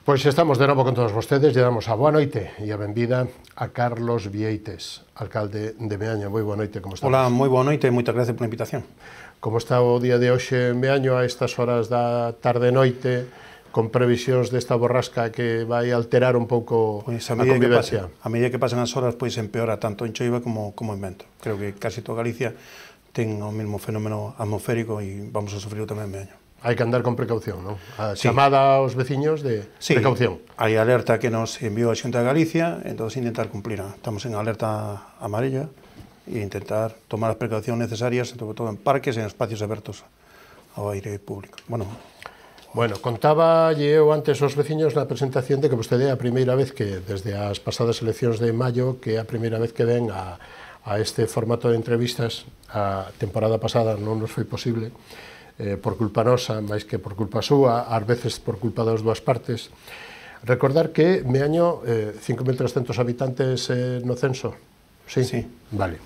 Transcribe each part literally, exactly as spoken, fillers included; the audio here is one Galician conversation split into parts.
Pois estamos de novo con todos vostedes, lle damos a boa noite e a benvida a Carlos Vieites, alcalde de Meaño. Moi boa noite, como estamos? Hola, moi boa noite e moitas gracias pola invitación. Como está o día de hoxe en Meaño a estas horas da tarde-noite, con previsións desta borrasca que vai alterar un pouco pois a, a convivencia? Pase, a medida que pasan as horas, pois empeora tanto en choiva como, como en vento. Creo que casi toda Galicia ten o mesmo fenómeno atmosférico e vamos a sufrir tamén en Meaño. Hai que andar con precaución, non? A chamada aos veciños de sí, precaución. Hai alerta que nos enviou a Xunta de Galicia, entón intentar cumplir. Estamos en alerta amarilla e intentar tomar as precaucións necesarias, sobre todo en parques e en espacios abertos ao aire público. Bueno, Bueno, contaba eu antes aos veciños na presentación de que vostede é a primeira vez que, desde as pasadas eleccións de maio, que é a primeira vez que ven a, a este formato de entrevistas. A temporada pasada non nos foi posible, eh, por culpa nosa, máis que por culpa súa, ás veces por culpa das dúas partes. Recordar que Meaño, eh, cinco mil trescentos habitantes eh, no censo. Sí? Sí. Vale.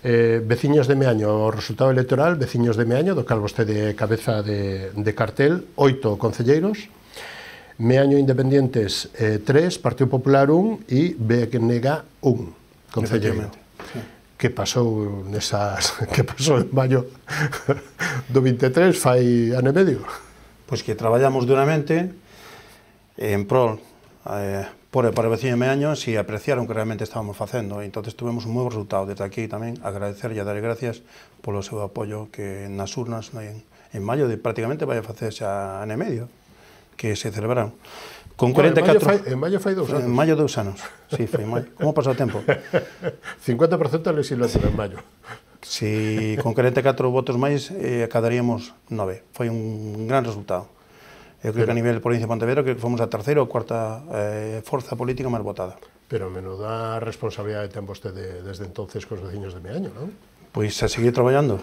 Eh, veciños de Meaño, o resultado electoral, veciños de Meaño, do cal vostede cabeza de, de cartel, oito concelleiros, Meaño Independientes eh, tres, Partido Popular un e B N G un concelleiro. Sí. Que pasou nesas, que pasou en maio do vinte e tres, fai ano e medio? Pois que traballamos duramente en prol eh, por e para o veciño de Meaño, si apreciaron que realmente estábamos facendo, e entón tuvemos un moi bo resultado. Desde aquí tamén agradecer e dar gracias polo seu apoio que nas urnas en, en maio de prácticamente vai a facer xa ano e medio que se celebraron. Con cuarenta e catro... En maio fai dous anos. En maio dous anos, sí, foi en maio. Como pasou o tempo? cincuenta por ciento da legislatura en maio. Si con cuarenta e catro votos máis eh, acadaríamos nove. Foi un gran resultado. Eu creo que a nivel de provincia de Pontevedra creo que fomos a terceira ou cuarta eh, forza política máis votada. Pero menuda responsabilidade ten vostede desde entonces cos veciños de Meaño, non? Pois a seguir traballando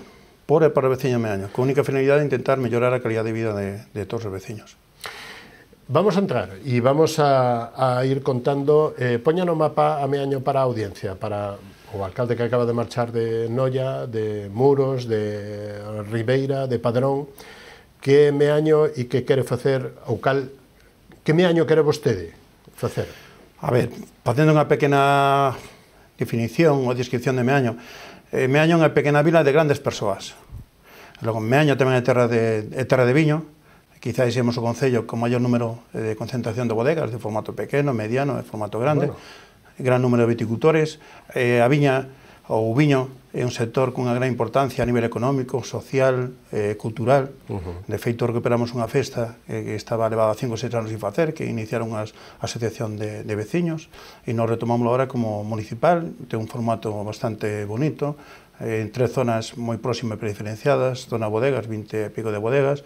por e para o veciño de Meaño, con única finalidade de intentar mellorar a calidad de vida de, de todos os veciños. Vamos a entrar e vamos a, a ir contando, eh, poña no mapa a Meaño para a audiencia, para o alcalde que acaba de marchar de Noia, de Muros, de Ribeira, de Padrón, que Meaño e que quere facer, ou cal, que Meaño quere vostede facer? A ver, facendo unha pequena definición ou descripción de Meaño, eh, Meaño é unha pequena vila de grandes persoas. Logo, Meaño tamén é terra de, é terra de viño. Quizás semos o concello con maior número de concentración de bodegas de formato pequeno, mediano e formato grande, bueno. Gran número de viticultores. Eh, a viña ou o viño é un sector cunha gran importancia a nivel económico, social, eh, cultural. Uh-huh. De feito, recuperamos unha festa eh, que estaba levada cinco ou seis anos sin facer, que iniciaron a asociación de, de veciños, e nos retomamos agora como municipal, ten un formato bastante bonito, eh, en tres zonas moi próximas e diferenciadas, zona bodegas, vinte e pico de bodegas,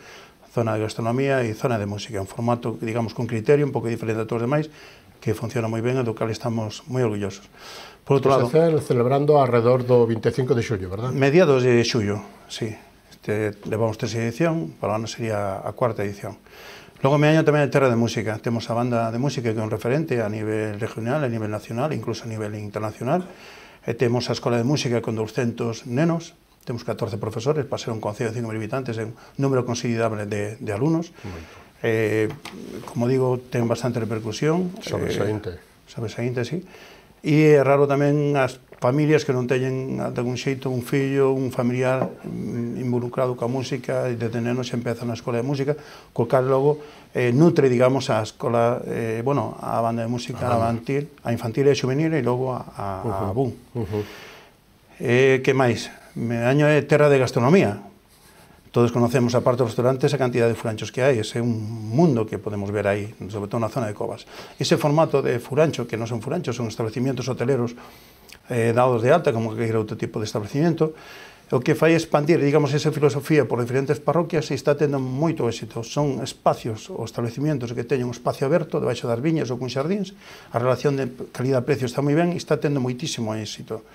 zona de gastronomía e zona de música, un formato, digamos, con criterio, un pouco diferente a todos os demais, que funciona moi ben e do cal estamos moi orgullosos. Por outro lado, se celebrando alrededor do vinte e cinco de xullo, verdad? Mediados de xullo, sí. Este, levamos tres edición, para o ano sería a cuarta edición. Logo, Meaño tamén é terra de música. Temos a banda de música que é un referente a nivel regional, a nivel nacional, incluso a nivel internacional. E temos a Escola de Música con douscentos nenos. Temos catorce profesores, para ser un concello de cinco mil habitantes, é un número considerable de, de alumnos. Eh, como digo, ten bastante repercusión. Sobresaínte. Eh, sobresaínte, sí. E é raro tamén as familias que non teñen, de algún xeito, un fillo, un familiar involucrado coa música, e desde nenos empeza na escola de música, co cal logo eh, nutre, digamos, a escola, eh, bueno, a banda de música ah, infantil, a infantil e juvenil, e logo a, a, uh-huh. a B U M. Uh-huh. Eh, que máis? Meaño é terra de gastronomía. Todos conocemos, a parte dos restaurantes, a cantidad de furanchos que hai. Ese é un mundo que podemos ver aí, sobre todo na zona de Covas. Ese formato de furancho, que non son furanchos, son establecimientos hoteleros eh, dados de alta, como que era outro tipo de establecimiento, o que fai expandir, digamos, esa filosofía por diferentes parroquias e está tendo moito éxito. Son espacios ou establecimientos que teñen un espacio aberto debaixo das viñas ou con xardíns. A relación de calidad-precio está moi ben e está tendo moitísimo éxito.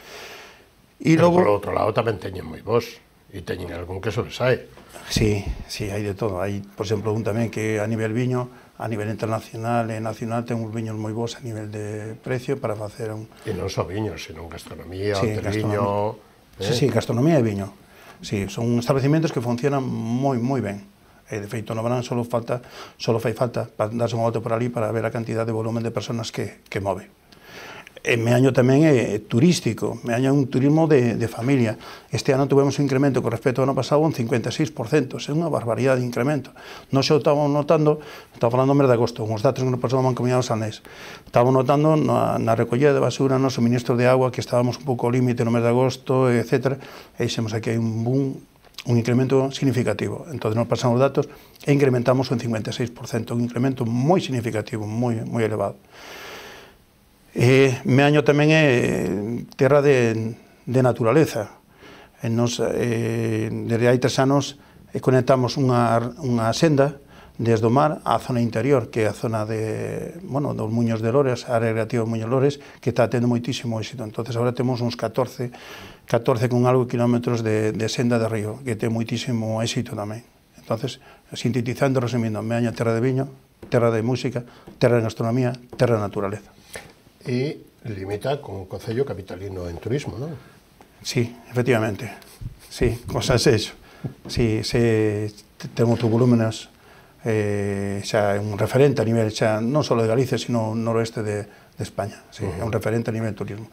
E pero logo, por outro lado tamén teñen moi bons e teñen algún que sobresae. Sí, sí, hai de todo. Hai, por exemplo, un tamén que a nivel viño, a nivel internacional e nacional, ten uns viños moi bons a nivel de precio para facer un... E non só viños, sino gastronomía, sí, hoteliño... Eh? Sí, sí, gastronomía e viño. Sí, son establecimientos que funcionan moi, moi ben. E, de feito, no verán só falta, só fai falta para darse unha volta por ali para ver a cantidad de volumen de personas que, que move. E Meaño tamén é turístico, Meaño é un turismo de, de familia. Este ano tuvemos un incremento con respecto ao ano pasado un cincuenta e seis por cento, é unha barbaridade de incremento. Non se o estamos notando, estamos falando do mes de agosto, uns datos que nos pasou a Mancomunidade do Salnés. Estamos notando na, na recollida de basura, no suministro de agua, que estábamos un pouco ao límite no mes de agosto, etcétera, e xemos aquí un boom, un incremento significativo. Entón, nos pasamos os datos e incrementamos un cincuenta e seis por cento, un incremento moi significativo, moi, moi elevado. E Meaño tamén é terra de, de naturaleza. E nos, eh, desde hai tres anos eh, conectamos unha, unha senda desde o mar á zona interior, que é a zona de, bueno, dos Muños de Lores, a área recreativa Muños de Lores, que está tendo moitísimo éxito. Entonces, agora temos uns catorce, catorce con algo kilómetros de, de senda de río, que ten moitísimo éxito tamén. Entonces, sintetizando, resumindo, Meaño terra de viño, terra de música, terra de gastronomía, terra de naturaleza. E limita con o Concello capitalino en turismo, non? Sí, efectivamente. Sí, con Sanxenxo. Sí, se ten outros volúmenes, eh, xa é un referente a nivel, xa non só de Galicia, sino noroeste de, de España. Sí, uh-huh. É un referente a nivel de turismo.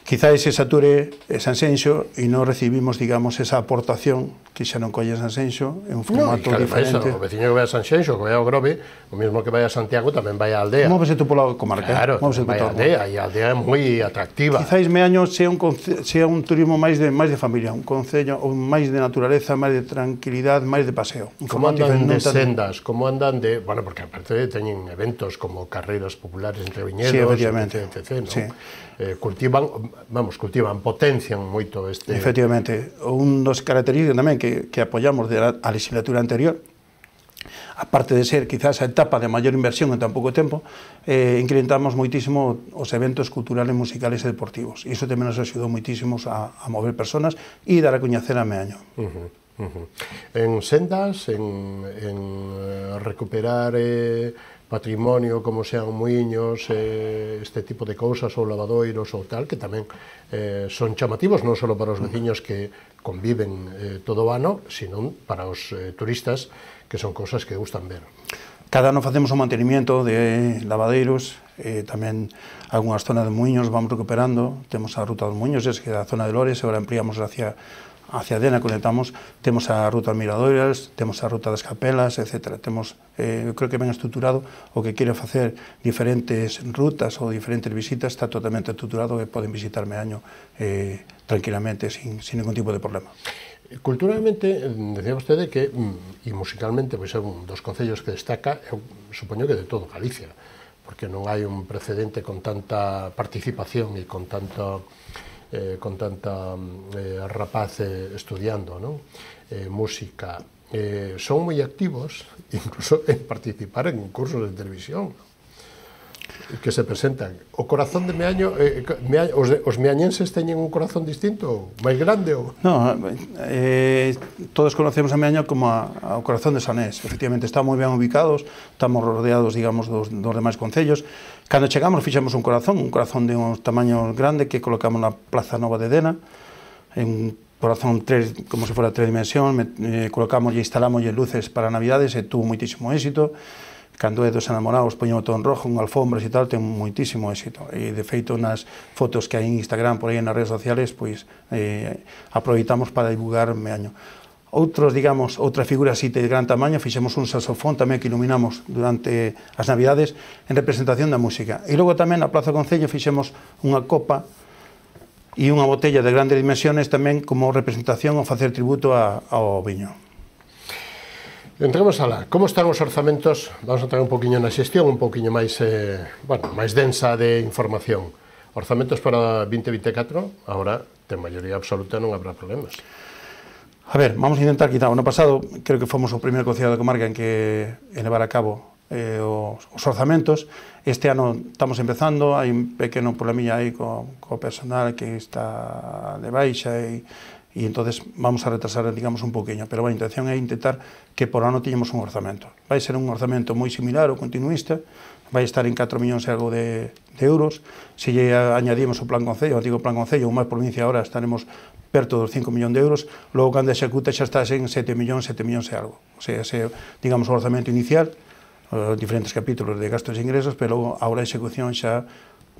Quizás se sature Sanxenxo e non recibimos, digamos, esa aportación que xa non colle Sanxenxo, é un formato no, diferente. O veciño que vai a Sanxenxo, que vai ao Grove, o mesmo que vai a Santiago, tamén vai á aldea. Móvese tú pola comarca. Claro, vai á aldea, e a aldea é moi atractiva. Quizás Meaño sea un, sea un turismo máis de, máis de familia, un concello máis de naturaleza, máis de tranquilidade, máis de paseo. Como andan de sendas, como andan de... Bueno, porque aparte teñen eventos como carreiras populares entre viñedos, sí, efectivamente. etcétera, ¿no? Sí. Eh, cultivan, vamos, cultivan, potencian moito este... Efectivamente, un dos características tamén que, que apoyamos de la, a legislatura anterior, aparte de ser quizás a etapa de maior inversión en tan pouco tempo, eh, incrementamos moitísimo os eventos culturales, musicales e deportivos. E iso tamén nos axudou moitísimos a, a mover personas e dar a coñecer a Meaño. Uh-huh, uh-huh. En sendas, en, en recuperar... Eh, patrimonio como sean muiños, eh, este tipo de cousas, ou lavadoiros ou tal, que tamén eh, son chamativos non só para os veciños que conviven eh, todo o ano, sino para os eh, turistas, que son cousas que gustan ver. Cada ano facemos un mantenimiento de lavadeiros, eh, tamén algunhas zonas de muiños vamos recuperando, temos a ruta dos muiños, es que é a zona de Lores, agora ampliamos hacia hacia Dena, conectamos, temos a ruta das Miradoiras, temos a ruta das Capelas, etcétera. Temos, eh, eu creo que ben estruturado, o que quere facer diferentes rutas ou diferentes visitas, está totalmente estruturado e poden visitar Meaño eh, tranquilamente, sin, sin ningún tipo de problema. Culturalmente, decía vostede que, e musicalmente, pois é un dos concellos que destaca, eu supoño que de todo Galicia, porque non hai un precedente con tanta participación e con tanto... Eh, con tanta eh, rapaz eh, estudiando, ¿no? eh, música, eh, son moi activos, incluso en participar en cursos de televisión, ¿no? Que se presentan. O corazón de Meaño, eh, Meaño os, de, os meañenses teñen un corazón distinto, máis grande? Ou? No, eh, todos conocemos a Meaño como a, a, o corazón de Sanés. Efectivamente, estamos moi ben ubicados, estamos rodeados, digamos, dos, dos demais concellos. Cando chegamos, fixemos un corazón, un corazón de un tamaño grande que colocamos na Plaza Nova de Dena, en corazón tres, como se fora tres dimensión, eh, colocamos e instalamos luces para Navidades e tuvo moitísimo éxito. Cando é dos enamorados, poñemos todo en rojo, con alfombras e tal, ten moitísimo éxito. E, de feito, nas fotos que hai en Instagram, por aí nas redes sociales, pois, eh, aproveitamos para divulgar Meaño. Outros, digamos, outra figura así de gran tamaño, fixemos un saxofón tamén que iluminamos durante as Navidades en representación da música. E logo tamén na Plaza Concello fixemos unha copa e unha botella de grandes dimensiones tamén como representación ao facer tributo a, ao viño. Entremos alá. Como están os orzamentos? Vamos a entrar un poquinho na xestión, un poquinho máis, eh, bueno, máis densa de información. Orzamentos para vinte vinte e catro, agora, de maioría absoluta, non habrá problemas. A ver, vamos a intentar quitar. O ano pasado, creo que fomos o primeiro concello da comarca en que elevar a cabo eh, os, os orzamentos. Este ano estamos empezando, hai un pequeno problemilla aí co, co personal que está de baixa e e entonces vamos a retrasar, digamos, un poquinho, pero a intención é intentar que por ano teñamos un orzamento. Vai ser un orzamento moi similar ao continuista, vai estar en catro millóns e algo de, de euros. Se lle añadimos o plan concello, o antigo plan concello, ou máis provincia, ahora estaremos perto dos cinco millóns de euros, logo cando executa xa estás en sete millóns, sete millóns e algo. O sea, ese, digamos, o orzamento inicial, os diferentes capítulos de gastos e ingresos, pero logo a hora de execución xa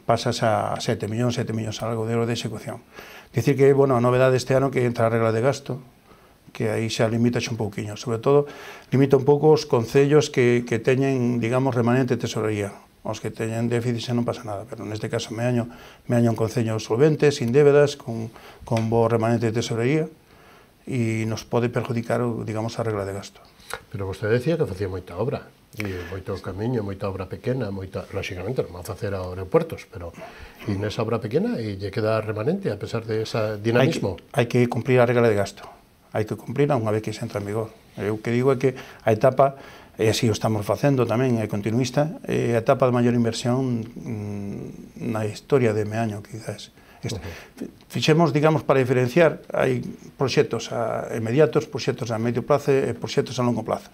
pasas a sete millóns, sete millóns algo de euros de execución. Dicir que, bueno, a novedade este ano que entra a regla de gasto, que aí xa limita un pouquiño, sobre todo limita un pouco os concellos que, que teñen, digamos, remanente tesorería. Os que teñen déficit xa non pasa nada, pero neste caso Meaño, Meaño un concello solvente, sin débedas, con, con bo remanente de tesorería, e nos pode perjudicar, digamos, a regla de gasto. Pero vostede decía que facía moita obra, e moito camiño, moita obra pequena, moita, lóxicamente non van a facer aeropuertos, pero e nesa obra pequena e lle queda remanente a pesar de ese dinamismo. Hai que, hai que cumplir a regla de gasto. Hai que cumplir unha vez que se entra en vigor. Eu que digo é que a etapa, e así o estamos facendo tamén, é continuista, é a etapa de maior inversión mmm, na historia de Meaño, quizás. Uh-huh. Fixemos, digamos, para diferenciar, hai proxectos a inmediatos, proxectos a medio prazo e proxectos a longo plazo.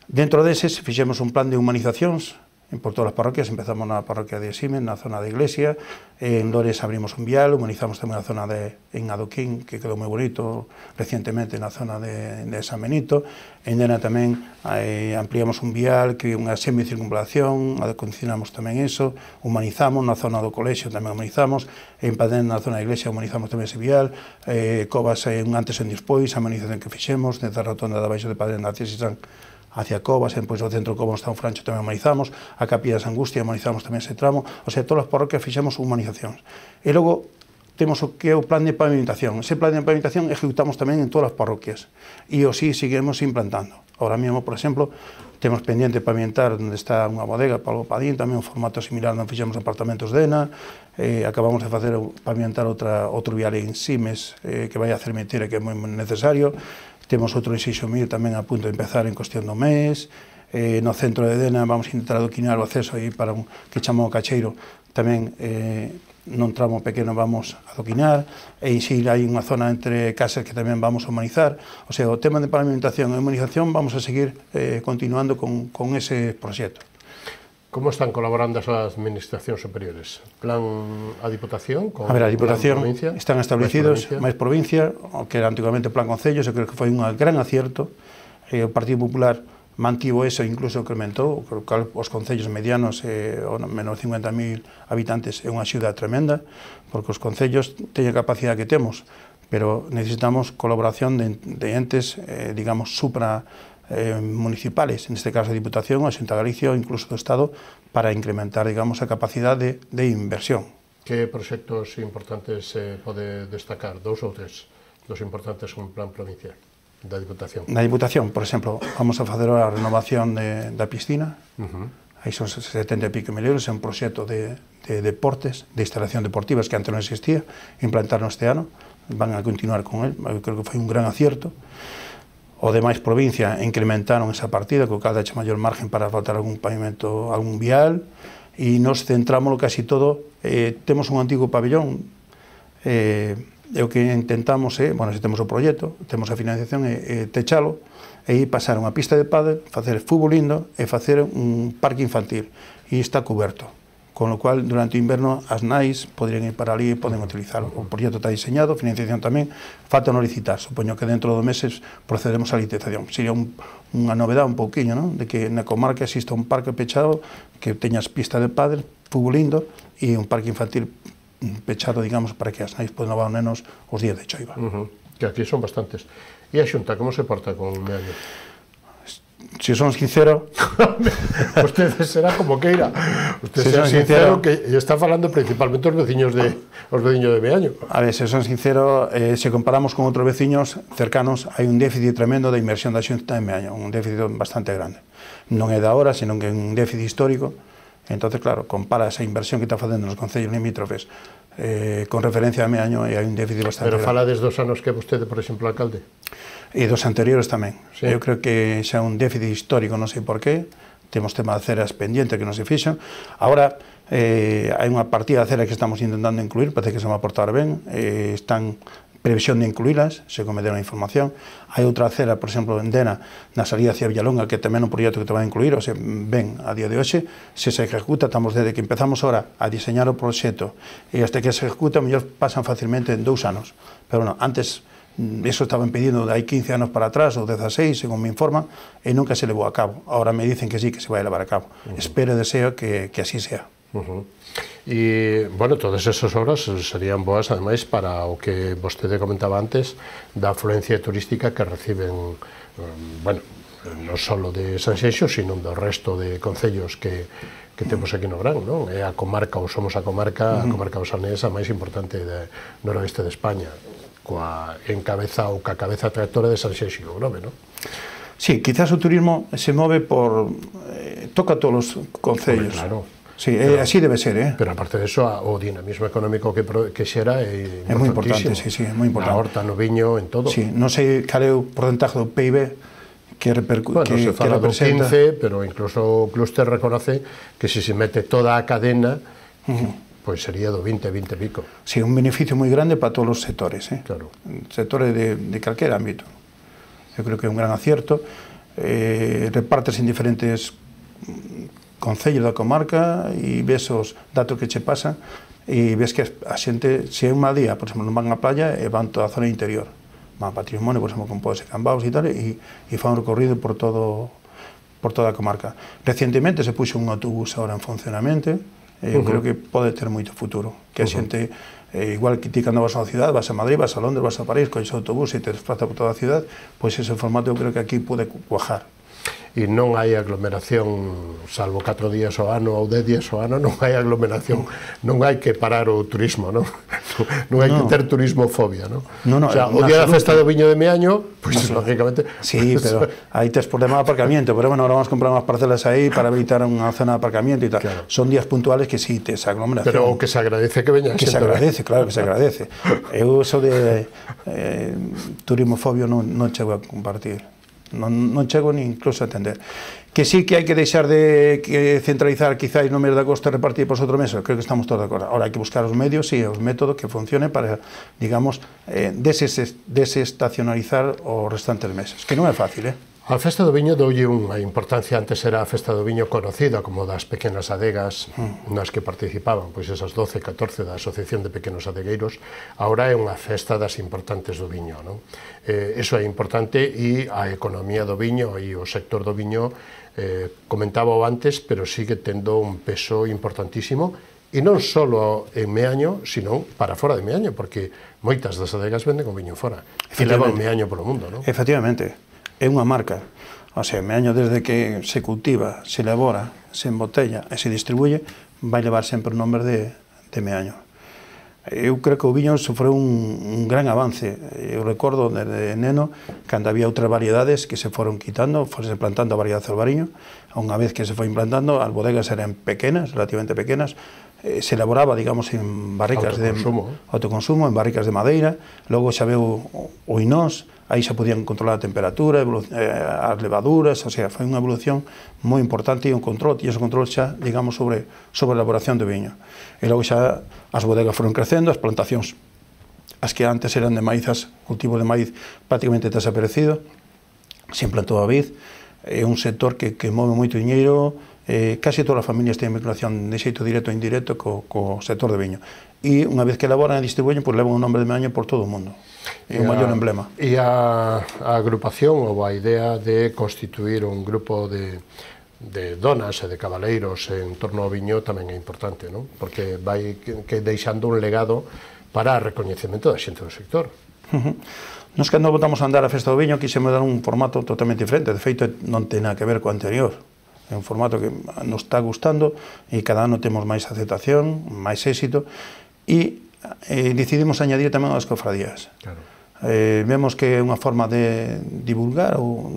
Dentro deses, fixemos un plan de humanizacións, por todas as parroquias, empezamos na parroquia de Simen, na zona da iglesia, en Lores abrimos un vial, humanizamos tamén a zona de en Adoquín, que quedou moi bonito recientemente na zona de, de San Benito, en Dena tamén eh, ampliamos un vial, que unha semicircunvalación, acondicionamos tamén eso, humanizamos na zona do colexio, tamén humanizamos, en Padén, na zona da iglesia, humanizamos tamén ese vial, eh, Covas, eh, un antes e un despois, a humanización que fixemos, desde a rotonda de abaixo de Padén, hacia Sisán, hacia Covas, depois do centro de Covas está un Francho, tamén humanizamos, a Capilla de Sangustia humanizamos tamén ese tramo, o sea, todas as parroquias fixemos humanizacións. E logo temos o que é o plan de pavimentación. Ese plan de pavimentación ejecutamos tamén en todas as parroquias e o sí seguimos implantando. Ahora mesmo, por exemplo, temos pendiente pavimentar onde está unha bodega, Pablo Padín, tamén un formato similar onde fixemos apartamentos de Ena, eh, acabamos de facer pavimentar outra, outro vial en Simes, eh, que vai a Cermetera, que é moi necesario. Temos outro en Seixomil tamén a punto de empezar en cuestión do mes. Eh, no centro de Dena vamos a intentar adoquinar o acceso aí para un que chamamos Cacheiro. Tamén eh, nun tramo pequeno vamos a adoquinar. E en si hai unha zona entre casas que tamén vamos a humanizar. O sea, o tema de pavimentación e humanización vamos a seguir eh, continuando con, con ese proxecto. Como están colaborando as administracións superiores? Plan a Diputación? Con a ver, a Diputación están establecidos máis provincia, o que era antigamente Plan Concellos, eu creo que foi un gran acierto. E o Partido Popular mantivo eso e incluso incrementou, os concellos medianos, eh, menos cincuenta mil habitantes, é unha axuda tremenda, porque os concellos teñen a capacidade que temos, pero necesitamos colaboración de, de entes, eh, digamos, supra Eh, municipales, en este caso a Diputación, a Xunta de Galicia ou incluso do Estado, para incrementar, digamos, a capacidade de, de inversión. Que proxectos importantes se eh, pode destacar? Dous ou tres dos importantes con plan provincial da Diputación? Na Diputación, por exemplo, vamos a fazer a renovación de, da piscina, uh-huh. Aí son setenta e pico mil euros, é un proxecto de, de deportes, de instalación deportivas que antes non existía, implantaron este ano, van a continuar con él, eu creo que foi un gran acierto. O demais provincia incrementaron esa partida, co cal dache maior margen para faltar algún pavimento, algún vial, e nos centramos casi todo. Eh, temos un antigo pabellón, eh, e o que intentamos é, bueno, se temos o proxecto, temos a financiación, é, é techalo, e pasar unha pista de pádel, facer fútbol lindo e facer un parque infantil, e está coberto. Con lo cual, durante o inverno, as nais poderían ir para ali e poden utilizarlo. O proxecto está diseñado, financiación tamén, falta non licitar. Supoño que dentro dos meses procedemos á licitación. Sería un, unha novedade un pouquiño, non? De que na comarca exista un parque pechado que teñas pista de pádel, fútbol lindo, e un parque infantil pechado, digamos, para que as nais poden levar os nenos os días de choiva. Uh-huh. Que aquí son bastantes. E a Xunta, como se porta con Meaño? Se son sincero... Usted será como queira. Usted si será sincero, sincero que está falando principalmente os veciños de os veciños de Meaño. A ver, se son sincero, eh, se comparamos con outros veciños cercanos, hai un déficit tremendo da inversión da Xunta en Meaño, un déficit bastante grande. Non é de agora, senón que é un déficit histórico. Entonces, claro, compara esa inversión que está facendo nos concellos limítrofes eh, con referencia a Meaño e hai un déficit bastante grande. Pero grande. fala desde os anos que vostede, por exemplo, alcalde? E dos anteriores tamén. Sí. Eu creo que xa un déficit histórico, non sei por qué, temos tema de aceras pendiente que non se fixo. Agora, eh, hai unha partida de aceras que estamos intentando incluir, parece que se va a portar ben, eh, están previsión de incluílas, se me deron a información. Hai outra acera, por exemplo, en Dena, na salida hacia Villalonga, que tamén é un proxecto que te vai a incluir, o sea, ben, a día de hoxe, se se ejecuta, estamos desde que empezamos ahora a diseñar o proxecto e hasta que se ejecuta, mellor pasan facilmente en dous anos. Pero, bueno, antes, eso estaban pedindo de hai quince anos para atrás, ou dezaseis, según me informan, e nunca se levou a cabo. Ahora me dicen que sí, que se vai a levar a cabo. Uh-huh. Espero e deseo que, que así sea. Uh-huh. E, bueno, todas esas obras serían boas, ademais, para o que vostede comentaba antes, da afluencia turística que reciben, um, bueno, non só de Sanxenxo, sino do resto de concellos que, que temos aquí no Gran, non? É a comarca, ou somos a comarca, a comarca osanesa máis importante do noroeste de España, coa encabeza ou ca cabeza tractora de Sanxenxo e Grove, non? Sí, quizás o turismo se move por... Eh, toca todos os concellos. Claro. Sí, pero, así debe ser, eh? Pero aparte de eso, o dinamismo económico que, que xera é é moi importante, sí, sí, é moi importante. Na horta, no viño, en todo. Sí, non sei cal é o porcentaje do P I B que, repercute, bueno, que, se fala que representa. do quince, pero incluso o Cluster reconoce que se se mete toda a cadena, uh-huh, pois sería do vinte, vinte e pico. Sí, un beneficio moi grande para todos os sectores, eh? Claro. Sectores de, de calquer ámbito. Eu creo que é un gran acierto. Eh, repartes en diferentes concellos da comarca e ves os datos que che pasan e ves que a xente, se é un mal día, por exemplo, non van á playa e van toda a zona interior, van a patrimonio, por exemplo, con Podes e Cambaos e tal, e, e fan un recorrido por todo por toda a comarca. Recientemente se puxo un autobús ahora en funcionamento, e eu uh-huh. creo que pode ter moito futuro, que a xente, eh, igual que ti cando vas a unha cidade, vas a Madrid, vas a Londres, vas a París, coixes autobús e te desplaza por toda a cidade, pois ese formato eu creo que aquí pode cuajar. E non hai aglomeración, salvo catro días ao ano ou dez días ao ano, non hai aglomeración, non hai que parar o turismo, non? Non hai no. que ter turismofobia, non? No, no, o sea, o día da festa do viño de Meaño, pois, pues, lógicamente... Sí, pero aí tes problema de aparcamiento, pero bueno, ahora vamos a comprar unhas parcelas aí para habilitar unha zona de aparcamiento e tal. Claro. Son días puntuales que sí, tes aglomeración. Pero o que se agradece que veña Que se agradece, claro que se agradece. Eu eso de eh, turismofobia non, non chego a compartir. Non, non chego ni incluso a entender. Que sí que hai que deixar de que centralizar quizás no mes de agosto e repartir por outro mes, creo que estamos todos de acordo. Ahora hai que buscar os medios e os métodos que funcionen para, digamos, eh, deses, desestacionalizar os restantes meses, que non é fácil, eh? A Festa do Viño doulle unha importancia, antes era a Festa do Viño conocida como das pequenas adegas mm. nas que participaban, pois esas doce, catorce da Asociación de Pequenos Adegueiros, agora é unha festa das importantes do viño, non? Eh, eso é importante e a economía do viño e o sector do viño, eh, comentaba antes, pero sigue tendo un peso importantísimo, e non só en Meaño, sino para fora de Meaño, porque moitas das adegas venden o viño fora, e levan Meaño polo mundo, non? Efectivamente. É unha marca, o sea, Meaño desde que se cultiva, se elabora, se embotella e se distribuye, vai levar sempre o nombre de, de Meaño. Eu creo que o viño sofreu un, un gran avance. Eu recordo desde neno, cando había outras variedades que se foron quitando, fose plantando a variedade albariño, unha vez que se foi implantando, as bodegas eran pequenas, relativamente pequenas, eh, se elaboraba, digamos, en barricas de autoconsumo, en barricas de madeira, logo xa veu o, o inós, aí xa podían controlar a temperatura, eh, as levaduras, o sea, foi unha evolución moi importante e un control, e ese control xa, digamos, sobre, sobre a elaboración do viño. E logo xa as bodegas foron crecendo, as plantacións, as que antes eran de maízas, cultivos de maíz prácticamente desaparecido, se implantou a vid, é un sector que, que move moito diñeiro, eh, casi todas as familias teñen vinculación de xeito directo ou indirecto co, co sector de viño. E unha vez que elaboran e distribuyen, pois levan o nombre de Meaño por todo o mundo. É o maior emblema. E a, a agrupación ou a idea de constituir un grupo de, de donas e de cabaleiros en torno ao viño tamén é importante, non? Porque vai que, que deixando un legado para o recoñecemento da xente do sector. Uh-huh. Nos cando votamos a andar a Festa do Viño quixemos dar un formato totalmente diferente, de feito non ten nada que ver co anterior. É un formato que nos está gustando e cada ano temos máis aceptación, máis éxito e eh, decidimos añadir tamén as cofradías. Claro. Eh, vemos que é unha forma de divulgar ou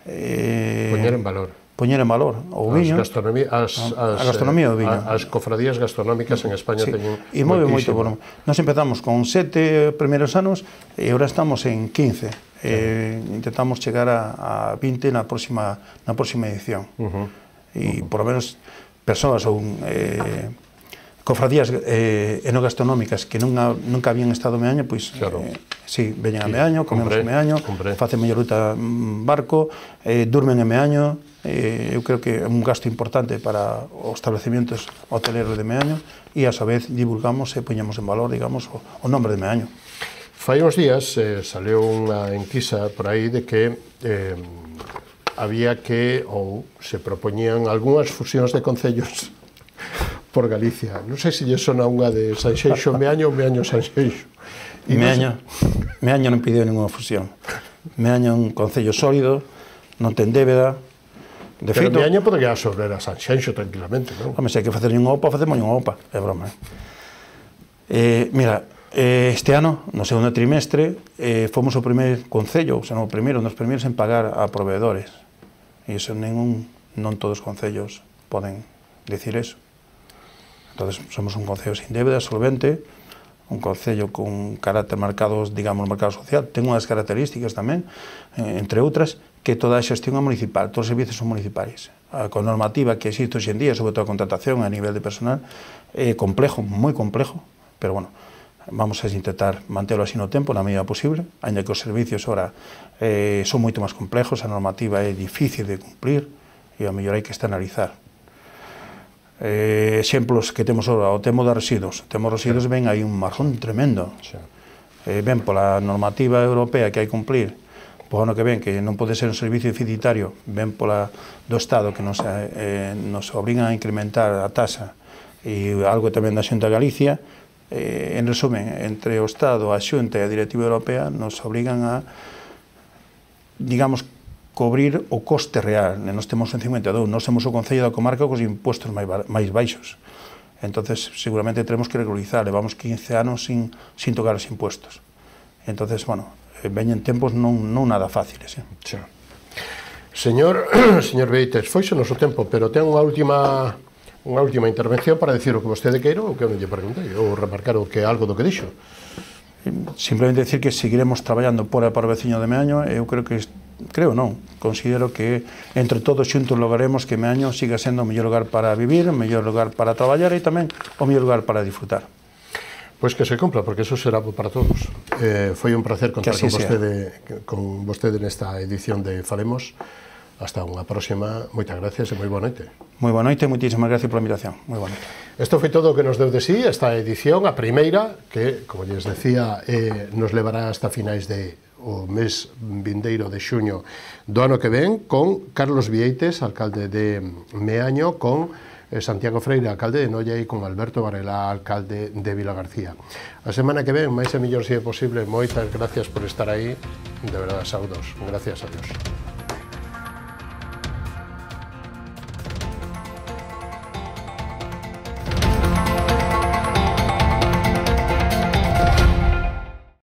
eh, poñer en valor poñer en valor o viño, as gastronomía, as, as, a gastronomía do viño. As cofradías gastronómicas en España sí. teñen e move moito. Bueno, nos empezamos con sete primeiros anos e agora estamos en quince. Eh, intentamos chegar a, a vinte na próxima na próxima edición. Uh-huh. E uh-huh. por lo menos persoas ou eh, cofradías eh, enogastronómicas que nunca, nunca habían estado Meaño, pois, claro. eh, sí, veñen a Meaño, comemos Hombre, en Meaño, hombre. facen mellor ruta en barco, eh, durmen en Meaño, eh, eu creo que é un gasto importante para os establecimientos hoteleros de Meaño e, a súa vez, divulgamos e poñemos en valor, digamos, o, o nombre de Meaño. Fai uns días eh, saleu unha enquisa por aí de que eh, había que, ou se propoñían algunhas fusións de concellos por Galicia. Non sei se lle sona unha de Sanxenxo Meaño ou Meaño Sanxenxo. Meaño, Meaño non pideu ninguna fusión. Meaño é un concello sólido, non ten débeda. De Pero feito, Meaño podría absorber a Sanxenxo tranquilamente, non? home, se hai que facer unha OPA, facemos unha OPA, é broma. Eh? Eh, mira, eh, este ano, no segundo trimestre, eh, fomos o primeiro concello, ou sea, non o primeiro, nos primeiros en pagar a proveedores. E iso ningún, non todos os concellos poden dicir eso. Entonces, somos un concello sin débeda, solvente, un concello con carácter marcado, digamos, no mercado social. Ten unhas características tamén, eh, entre outras, que toda a xestión é municipal, todos os servicios son municipais. A con normativa que existe hoxe en día, sobre todo a contratación a nivel de personal, é complejo, moi complejo, pero bueno, vamos a intentar mantelo así no tempo, na medida posible, ainda que os servicios ora eh, son moito máis complejos, a normativa é difícil de cumplir e a mellor hai que externalizar. Eh, exemplos que temos ora, o tema dos residuos. O tema dos residuos ven aí un marrón tremendo. Eh, ven pola normativa europea que hai que cumplir, po ano que ven, que non pode ser un servicio deficitario, ven pola do Estado que nos, eh, nos obrigan a incrementar a tasa e algo tamén da Xunta de Galicia. Eh, en resumen, entre o Estado, a Xunta e a Directiva Europea nos obrigan a, digamos, cobrir o coste real. Nós temos un cincuenta e dous, nós temos o Concello da Comarca cos impostos máis, máis baixos. Entonces, seguramente teremos que regularizar, levamos quince anos sin, sin tocar os impuestos. Entonces, bueno, veñen tempos non, non nada fáciles. Eh? Xa. Señor, señor Beites, foise o noso tempo, pero ten unha última unha última intervención para decir o que vostede queira ou que eu non lle preguntei, ou remarcar o que algo do que dixo. Simplemente decir que seguiremos traballando por e para o veciño de Meaño. Eu creo que, creo non, considero que entre todos xuntos lograremos que Meaño siga sendo o mellor lugar para vivir, o mellor lugar para traballar e tamén o mellor lugar para disfrutar. Pois que se cumpla, porque eso será para todos. Eh, foi un placer contar con vostede, con vostede nesta edición de Falemos. Hasta unha próxima. Moitas gracias e moi boa noite. Moi boa noite e moitísimas gracias pola invitación. Moi boa noite. Isto foi todo o que nos deu de sí esta edición, a primeira, que, como lles decía, eh, nos levará hasta finais de o mes vindeiro de xuño do ano que ven, con Carlos Vieites, alcalde de Meaño, con eh, Santiago Freire, alcalde de Noia, e con Alberto Varela, alcalde de Vilagarcía. A semana que ven, máis e mellor se é posible, moitas gracias por estar aí. De verdade, saudos. Gracias a Dios.